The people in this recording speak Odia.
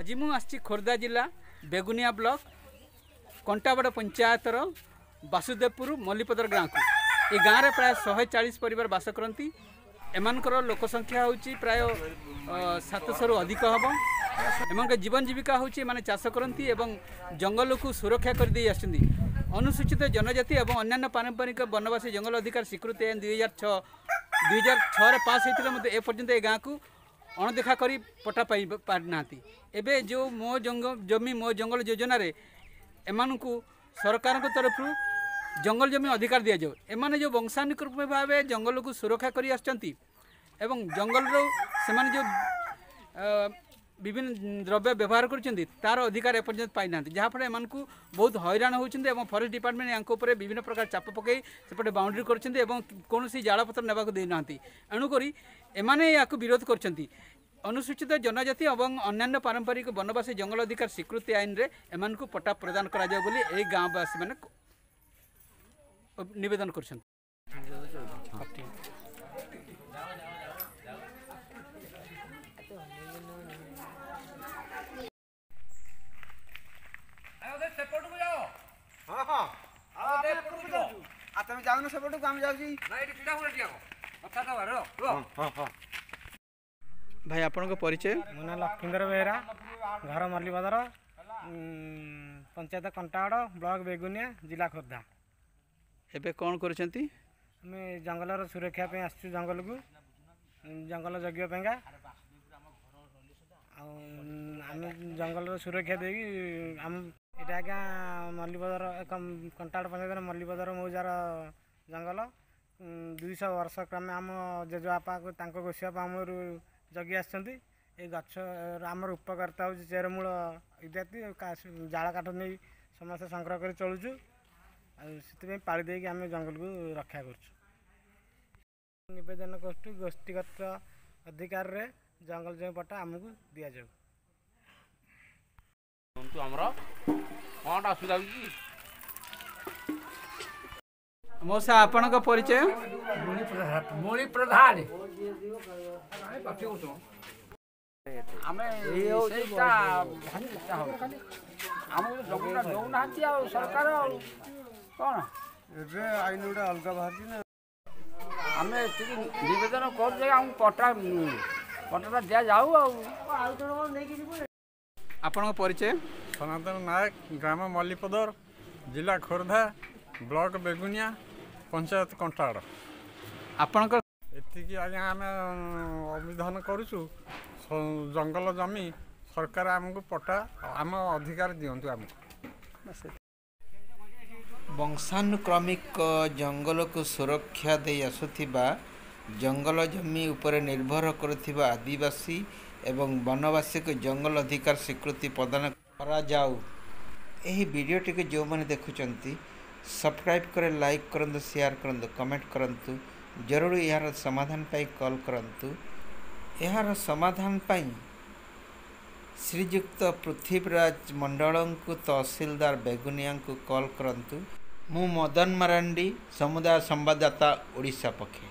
ଆଜି ମୁଁ ଆସିଛି ଖୋର୍ଦ୍ଧା ଜିଲ୍ଲା ବେଗୁନିଆ ବ୍ଲକ କଣ୍ଟାବଡ଼ ପଞ୍ଚାୟତର ବାସୁଦେବପୁର ମଲ୍ଲିପଦର ଗାଁକୁ। ଏ ଗାଁରେ ପ୍ରାୟ 140 ପରିବାର ବାସ କରନ୍ତି। ଏମାନଙ୍କର ଲୋକ ସଂଖ୍ୟା ହେଉଛି ପ୍ରାୟ 700ରୁ ଅଧିକ ହେବ। ଏମାନଙ୍କ ଜୀବନ ଜୀବିକା ହେଉଛି ଏମାନେ ଚାଷ କରନ୍ତି ଏବଂ ଜଙ୍ଗଲକୁ ସୁରକ୍ଷା କରିଦେଇ ଆସିଛନ୍ତି। ଅନୁସୂଚିତ ଜନଜାତି ଏବଂ ଅନ୍ୟାନ୍ୟ ପାରମ୍ପରିକ ବନବାସୀ ଜଙ୍ଗଲ ଅଧିକାର ସ୍ୱୀକୃତି ଆଇନ 2006, 2006ରେ ପାସ୍ ହୋଇଥିଲେ ମଧ୍ୟ ଏପର୍ଯ୍ୟନ୍ତ ଏ ଗାଁକୁ ଅଣଦେଖା କରି ପଟ୍ଟା ପାଇ ପାରିନାହାନ୍ତି। ଏବେ ଯେଉଁ ମୋ ଜମି ମୋ ଜଙ୍ଗଲ ଯୋଜନାରେ ଏମାନଙ୍କୁ ସରକାରଙ୍କ ତରଫରୁ ଜଙ୍ଗଲ ଜମି ଅଧିକାର ଦିଆଯାଉ। ଏମାନେ ଯେଉଁ ବଂଶାନୁକ୍ରମିକ ଭାବେ ଜଙ୍ଗଲକୁ ସୁରକ୍ଷା କରି ଆସିଛନ୍ତି ଏବଂ ଜଙ୍ଗଲରୁ ସେମାନେ ଯେଉଁ ବିଭିନ୍ନ ଦ୍ରବ୍ୟ ବ୍ୟବହାର କରୁଛନ୍ତି ତାର ଅଧିକାର ଏପର୍ଯ୍ୟନ୍ତ ପାଇନାହାନ୍ତି, ଯାହାଫଳରେ ଏମାନଙ୍କୁ ବହୁତ ହଇରାଣ ହେଉଛନ୍ତି ଏବଂ ଫରେଷ୍ଟ ଡିପାର୍ଟମେଣ୍ଟ ୟାଙ୍କ ଉପରେ ବିଭିନ୍ନ ପ୍ରକାର ଚାପ ପକାଇ ସେପଟେ ବାଉଣ୍ଡ୍ରି କରୁଛନ୍ତି ଏବଂ କୌଣସି ଜାଳପତ୍ର ନେବାକୁ ଦେଇନାହାନ୍ତି। ଏଣୁକରି ଏମାନେ ୟାକୁ ବିରୋଧ କରୁଛନ୍ତି। ଅନୁସୂଚିତ ଜନଜାତି ଏବଂ ଅନ୍ୟାନ୍ୟ ପାରମ୍ପରିକ ବନବାସୀ ଜଙ୍ଗଲ ଅଧିକାର ସ୍ୱୀକୃତି ଆଇନରେ ଏମାନଙ୍କୁ ପଟ୍ଟା ପ୍ରଦାନ କରାଯାଉ ବୋଲି ଏହି ଗାଁବାସୀମାନେ ନିବେଦନ କରୁଛନ୍ତି। ହଁ ହଁ, ଆଉ ତମେ ଯାଉନ ସେପଟକୁ, ଆମେ ଯାଉଛି। ଭାଇ, ଆପଣଙ୍କ ପରିଚୟ? ମୋ ନାଁ ଲକ୍ଷ୍ମୀଧର ବେହେରା, ଘର ମଲ୍ଲିପଦର, ପଞ୍ଚାୟତ କଣ୍ଟାଗଡ଼, ବ୍ଲକ ବେଗୁନିଆ, ଜିଲ୍ଲା ଖୋର୍ଦ୍ଧା। ଏବେ କ'ଣ କରୁଛନ୍ତି? ଆମେ ଜଙ୍ଗଲର ସୁରକ୍ଷା ପାଇଁ ଆସିଛୁ, ଜଙ୍ଗଲକୁ ଜଙ୍ଗଲ ଜଗିବା ପାଇଁକା। ଆଉ ଆମେ ଜଙ୍ଗଲର ସୁରକ୍ଷା ଦେଇକି ଆମ ଏଇଟା ଆଜ୍ଞା ମଲ୍ଲିପଦର, କଣ୍ଟାଗଡ଼ ପଞ୍ଚାୟତର ମଲ୍ଲିପଦର ମୌଜାର ଜଙ୍ଗଲ। 200 ବର୍ଷ କ୍ରମେ ଆମ ଜେଜେବାପା ତାଙ୍କ ଗୋସିବାପା ଅମଳରୁ ଜଗି ଆସିଛନ୍ତି। ଏ ଗଛ ଆମର ଉପକାରିତା ହେଉଛି ଚେରମୂଳ ଇତ୍ୟାଦି, ଜାଳ କାଠ ନେଇ ସମସ୍ତେ ସଂଗ୍ରହ କରି ଚଳୁଛୁ। ଆଉ ସେଥିପାଇଁ ପାଳି ଦେଇକି ଆମେ ଜଙ୍ଗଲକୁ ରକ୍ଷା କରୁଛୁ। ନିବେଦନ କରୁଛୁ, ଗୋଷ୍ଠୀଗତ ଅଧିକାରରେ ଜଙ୍ଗଲ ଜମି ପଟ୍ଟା ଆମକୁ ଦିଆଯାଉ। ଆମର କ'ଣଟା ଅସୁବିଧା ହେଉଛି? ମଉସା, ଆପଣଙ୍କ ପରିଚୟ? ମୁଣି ପ୍ରଧାନ। ଆମେ ସେଇଟା ଆମକୁ ଜମିଟା ଦେଉନାହାନ୍ତି ଆଉ ସରକାର ଆଉ କ'ଣ ଏବେ ଆଇନ ଗୋଟେ ଅଲଗା ବାହାରିଛି ନା? ଆମେ ଏତିକି ନିବେଦନ କରୁଛୁ ଯେ ଆମକୁ ପଟ୍ଟା ପଟ୍ଟାଟା ଦିଆଯାଉ। ଆଉ ଆପଣଙ୍କ ପରିଚୟ? ସନାତନ ନାୟକ, ଗ୍ରାମ ମଲ୍ଲିପଦର, ଜିଲ୍ଲା ଖୋର୍ଦ୍ଧା, ବ୍ଲକ ବେଗୁନିଆ, ପଞ୍ଚାୟତ କଣ୍ଟାଗଡ଼। ଆପଣଙ୍କ ଏତିକି ଆଜ୍ଞା ଆମେ ଅଭିଧାନ କରୁଛୁ, ଜଙ୍ଗଲ ଜମି ସରକାର ଆମକୁ ପଟ୍ଟା, ଆମ ଅଧିକାର ଦିଅନ୍ତୁ ଆମକୁ। ବଂଶାନୁକ୍ରମିକ ଜଙ୍ଗଲକୁ ସୁରକ୍ଷା ଦେଇ ଆସୁଥିବା, ଜଙ୍ଗଲ ଜମି ଉପରେ ନିର୍ଭର କରୁଥିବା ଆଦିବାସୀ ଏବଂ ବନବାସୀକୁ ଜଙ୍ଗଲ ଅଧିକାର ସ୍ୱୀକୃତି ପ୍ରଦାନ କରାଯାଉ। ଏହି ଭିଡ଼ିଓଟିକୁ ଯେଉଁମାନେ ଦେଖୁଛନ୍ତି, ସବସ୍କ୍ରାଇବ୍ କରି ଲାଇକ୍ କରନ୍ତୁ, ସେୟାର କରନ୍ତୁ, କମେଣ୍ଟ କରନ୍ତୁ। ଜରୁରୀ ଏହାର ସମାଧାନ ପାଇଁ କଲ୍ କରନ୍ତୁ। ଏହାର ସମାଧାନ ପାଇଁ ଶ୍ରୀଯୁକ୍ତ ପୃଥ୍ୱୀରାଜ ମଣ୍ଡଳଙ୍କୁ, ତହସିଲଦାର ବେଗୁନିଆଙ୍କୁ କଲ୍ କରନ୍ତୁ। ମୁଁ ମଦନ ମାରାଣ୍ଡି, ସମୁଦାୟ ସମ୍ବାଦଦାତା, ଓଡ଼ିଶା ପକ୍ଷେ।